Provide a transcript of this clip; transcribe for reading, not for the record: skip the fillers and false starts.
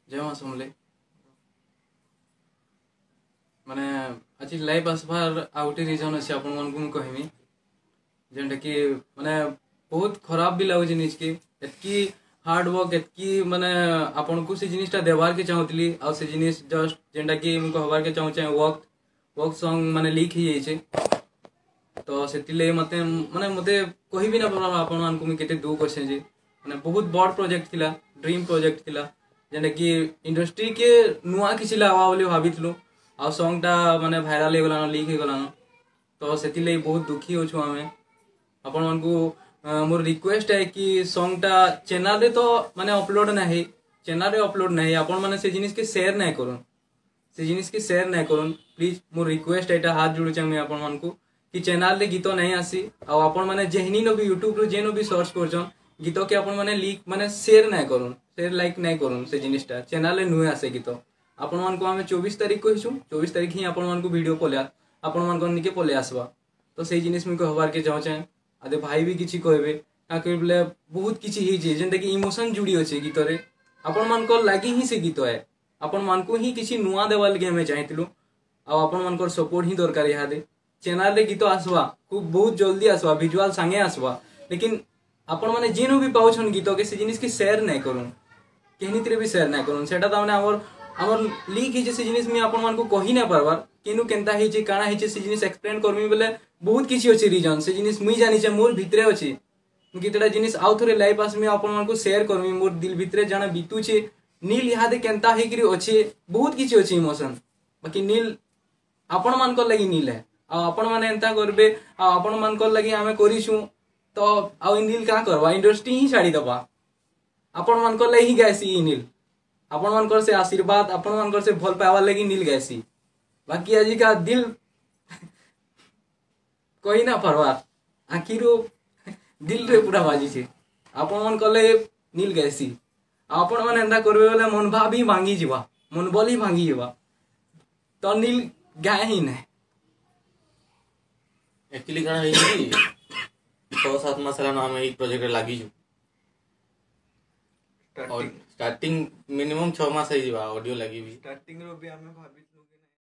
ଜୟ ମା ସମଲେଇ। ମାନେ ଆଜି ଲାଇଭ୍ ଆସବାର ଆଉ ଗୋଟେ ରିଜନ୍ ଅଛି, ଆପଣମାନଙ୍କୁ ମୁଁ କହିମି, ଯେନ୍ଟାକି ମାନେ ବହୁତ ଖରାପ ବି ଲାଗୁଛି ନିଜକେ। ଏତ୍କି ହାର୍ଡ ୱାର୍କ, ଏତ୍କି ମାନେ ଆପଣଙ୍କୁ ସେ ଜିନିଷଟା ଦେବାର୍କେ ଚାହୁଁଥିଲି, ଆଉ ସେ ଜିନିଷ ଜଷ୍ଟ ଯେନ୍ଟାକି ମୁଁ କହିବାର୍କେ ଚାହୁଁଛେ, ୱାର୍କ ୱାର୍କ ସଙ୍ଗ ମାନେ ଲିକ୍ ହେଇଯାଇଛେ। ତ ସେଥିର୍ଲାଗି ମତେ ମାନେ ମତେ କହିବି ନା ପାରବା ଆପଣମାନଙ୍କୁ ମୁଇଁ କେତେ ଦୁଃଖ ଅଛେ ଯେ ମାନେ ବହୁତ ବଡ଼ ପ୍ରୋଜେକ୍ଟ ଥିଲା, ଡ୍ରିମ୍ ପ୍ରୋଜେକ୍ଟ ଥିଲା, ଯେନ୍ଟାକି ଇଣ୍ଡଷ୍ଟ୍ରିକେ ନୂଆ କିଛି ଲାଗ୍ବା ବୋଲି ଭାବିଥିଲୁ, ଆଉ ସଙ୍ଗଟା ମାନେ ଭାଇରାଲ ହେଇଗଲାନ, ଲିକ୍ ହେଇଗଲାନ। ତ ସେଥିର୍ଲାଗି ବହୁତ ଦୁଃଖୀ ଅଛୁ ଆମେ। ଆପଣମାନଙ୍କୁ ମୋର ରିକ୍ୱେଷ୍ଟ ହେ କି ସଙ୍ଗଟା ଚ୍ୟାନେଲରେ ତ ମାନେ ଅପଲୋଡ ନାହିଁ, ଚ୍ୟାନେଲରେ ଅପଲୋଡ ନାହିଁ, ଆପଣ ମାନେ ସେ ଜିନିଷକେ ସେୟାର ନାଇଁ କରୁନ୍, ସେ ଜିନିଷକେ ସେୟାର ନାଇଁ କରୁନ୍ ପ୍ଲିଜ। ମୋର ରିକ୍ୱେଷ୍ଟ ଏଇଟା, ହାତ ଯୋଡୁଛେ ମୁଇଁ ଆପଣମାନଙ୍କୁ କି ଚ୍ୟାନେଲରେ ଗୀତ ନାଇଁ ଆସି, ଆଉ ଆପଣ ମାନେ ଯେହନି ବି ୟୁଟ୍ୟୁବରୁ ଯେନ ବି ସର୍ଚ୍ଚ କରୁଛନ୍ ଗୀତକେ, ଆପଣ ମାନେ ଲିକ୍ ମାନେ ସେୟାର ନାଇଁ କରୁନ୍, ସେୟାର ଲାଇକ୍ ନାଇଁ କରୁନ୍। ସେ ଜିନିଷଟା ଚ୍ୟାନେଲରେ ନୁହେଁ ଆସେ ଗୀତ। ଆପଣମାନଙ୍କୁ ଆମେ 24 ତାରିଖ କହିଛୁ, 24 ତାରିଖ ହିଁ ଆପଣମାନଙ୍କୁ ଭିଡ଼ିଓ ପଲେଇ ଆପଣମାନଙ୍କ ନିକେ ପଲେଇ ଆସବା। ତ ସେଇ ଜିନିଷ ମୁଇଁ କହିବାର୍କେ ଚାହୁଁଛେ। ଆଦେ ଭାଇ ବି କିଛି କହିବେ, କାଁ ବୋଲେ ବହୁତ କିଛି ହେଇଛେ, ଯେନ୍ଟାକି ଇମୋସନ୍ ଯୁଡ଼ି ଅଛେ ଗୀତରେ। ଆପଣମାନଙ୍କର ଲାଗି ହିଁ ସେ ଗୀତ ଏ, ଆପଣମାନଙ୍କୁ ହିଁ କିଛି ନୂଆ ଦେବାର୍ ଲାଗି ଆମେ ଚାହିଁଥିଲୁ, ଆଉ ଆପଣମାନଙ୍କର ସପୋର୍ଟ ହିଁ ଦରକାର ଇହାଦେ। ଚ୍ୟାନେଲରେ ଗୀତ ଆସବା, ଖୁବ୍ ବହୁତ ଜଲ୍ଦି ଆସବା, ଭିଜୁଆଲ ସାଙ୍ଗେ ଆସବା, ଲେକିନ୍ ଆପଣମାନେ ଯେନୁ ବି ପାଉଛନ୍ ଗୀତକେ, ସେ ଜିନିଷକେ ସେୟାର ନାଇଁ କରୁନ୍, କେହିଥିରେ ବି ସେୟାର ନାଇଁ କରୁନ୍। ସେଟା ତାମାନେ ଆମର ଲିକ୍ ହେଇଛେ। ସେ ଜିନିଷ ମୁଇଁ ଆପଣମାନଙ୍କୁ କହି ନାଇଁ ପାରବାର୍ କେନୁ କେନ୍ତା ହେଇଛେ, କାଣା ହେଇଛେ। ସେ ଜିନିଷ ଏକ୍ସପ୍ଲେନ୍ କରମି ବେଲେ ବହୁତ କିଛି ଅଛି ରିଜନ୍। ସେ ଜିନିଷ ମୁଇଁ ଜାନିଛେ, ମୋର ଭିତରେ ଅଛି। ମୁଇଁ କେତେଟା ଜିନିଷ ଆଉ ଥରେ ଲାଇଭ୍ ଆସମି, ଆପଣମାନଙ୍କୁ ସେୟାର କରମି, ମୋର ଦିଲ ଭିତରେ ଜାଣା ବିତୁଛେ, ନୀଲ ଇହାଦେ କେନ୍ତା ହେଇକିରି ଅଛେ। ବହୁତ କିଛି ଅଛି ଇମୋସନ୍। ବାକି ନୀଲ ଆପଣମାନଙ୍କର ଲାଗି ନୀଲ ହେ, ଆଉ ଆପଣମାନେ ଏନ୍ତା କରିବେ, ଆଉ ଆପଣମାନଙ୍କର ଲାଗି ଆମେ କରିଛୁଁ, ତ ଆଉ ଇ ନୀଲ କାଁ କରବା? ଇଣ୍ଡଷ୍ଟ୍ରି ହିଁ ଛାଡ଼ିଦବା। ଆପଣମାନଙ୍କର ଲାଗି ହିଁ ଗାଏସି ଇ ନୀଲ, ଆପଣମାନଙ୍କର ସେ ଆଶୀର୍ବାଦ, ଆପଣମାନଙ୍କର ସେ ଭଲ ପାଇବାର ଲାଗି ନୀଲ ଗାଏସି। ବାକି ଆଜିକା ଦିଲ କହି ନା ପାରବା, ଆଖିରୁ ଦିଲରେ ପୁରା ବାଜିছে। ଆପଣମାନଙ୍କର ଲାଗି ନୀଲ ଗାଏସି, ଆଉ ଆପଣମାନେ ଏନ୍ତା କରିବେ ବେଲେ ମନ ଭାବ ହିଁ ଭାଙ୍ଗିଯିବା, ମନବଲ ହିଁ ଭାଙ୍ଗିଯିବା, ତ ନୀଲ ଗାଏ ହିଁ ନାଇଁ। ଆକ୍ଚୁଆଲି କାଣା ହେଇଛି କି 6-7 ମାସ ହେଲାନ ଆମେ ଏଇ ପ୍ରୋଜେକ୍ଟରେ ଲାଗିଛୁ। ଷ୍ଟାର୍ଟିଂ ମିନିମମ୍ 6 ମାସ ହେଇଯିବା ଅଡିଓ ଲାଗିବି। ଷ୍ଟାର୍ଟିଂ ରୁ ବି ଆମେ ଭାବିଛୁ।